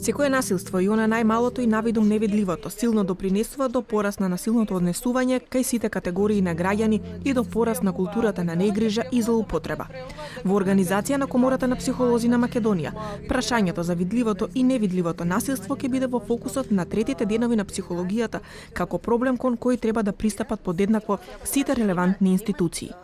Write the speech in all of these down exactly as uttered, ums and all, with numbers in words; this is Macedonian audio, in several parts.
Секое насилство, и она најмалото и навидум невидливото, силно допринесува до пораст на насилното однесување кај сите категории на граѓани и до пораст на културата на негрижа и злоупотреба. Во организација на Комората на психолози на Македонија, прашањето за видливото и невидливото насилство ќе биде во фокусот на третите денови на психологијата како проблем кон кој треба да пристапат подеднакво сите релевантни институции.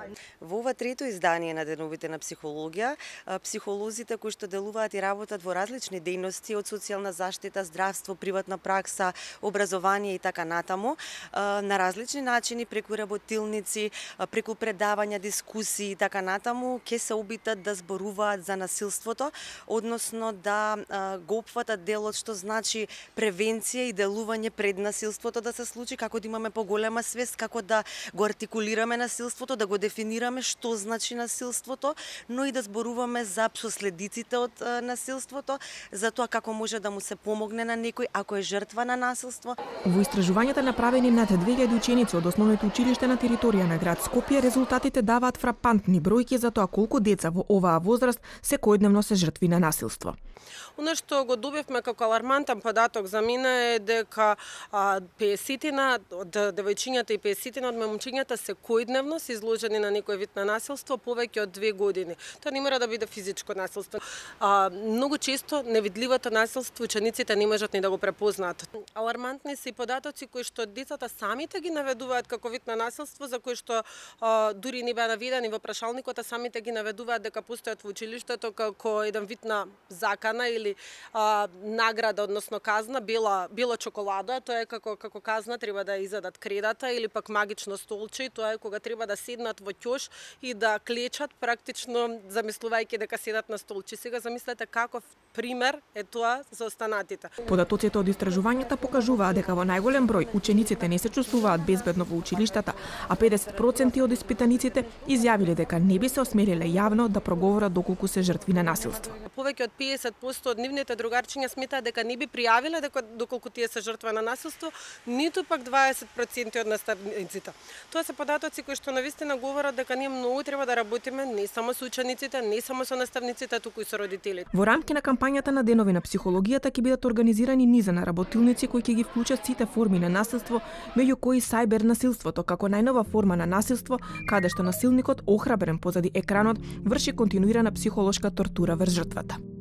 Во ова трето издание на Деновите на психологија, психолозите кои што делуваат и работат во различни дејности од социјална заштита, здравство, приватна пракса, образование и така натаму, на различни начини преку работилници, преку предавања, дискусии и така натаму, ќе се обитат да зборуваат за насилството, односно да го опфатат делот што значи превенција и делување пред насилството да се случи, како да имаме поголема свест, како да го артикулираме насилството, да го дефинираме што значи насилството, но и да зборуваме за последиците од насилството, за тоа како може да му се помогне на некој ако е жртва на насилство. Во истражувањата направени над две илјади ученици од основното училиште на територија на град Скопје, резултатите даваат фрапантни бројки за тоа колку деца во оваа возраст секојдневно се жртви на насилство. Оно што го добивме како алармантен податок за мене е дека песетина од девојчињата и песетина од момчињата секојдневно се изложени на некој вид на насилство повеќе од две години. Тоа не мора да биде физичко насилство. А, многу често невидливото насилство учениците не можат ни да го препознаат. Алармантни се и податоци кои што децата самите ги наведуваат како вид на насилство, за кои што а, дури не беа наведени во прашалникот, а самите ги наведуваат дека постојат во училиштето како еден вид на закана или а, награда, односно казна, бела бела чоколада, тоа е како како казна треба да изедат кредата или пак магично столче, тоа е кога треба да седнат во ќош и да клечат практично замислувајќи дека седат на столче. Сега замислете каков пример е тоа за останатите. Податоците од истражувањата покажуваат дека во најголем број учениците не се чувствуваат безбедно во училиштата, а педесет проценти од испитаниците изјавиле дека не би се осмелиле јавно да проговорат доколку се жртви на насилство. Повеќе од педесет проценти од нивните другарчиња сметаат дека не би пријавиле дека доколку тие се жртва на насилство, ниту пак дваесет проценти од наставниците. Тоа се податоци кои што навистина говорат дека ние многу треба да работиме не само со учениците, не само со наставниците, туку и со родителите. Во рамки на кампањата на Денови на психологијата ќе бидат организирани низа на работилници кои ќе ги вклучат сите форми на насилство, меѓу кои сајбер насилството како најнова форма на насилство, каде што насилникот охрабрен позади екранот врши континуирана психолошка тортура врз жртвата.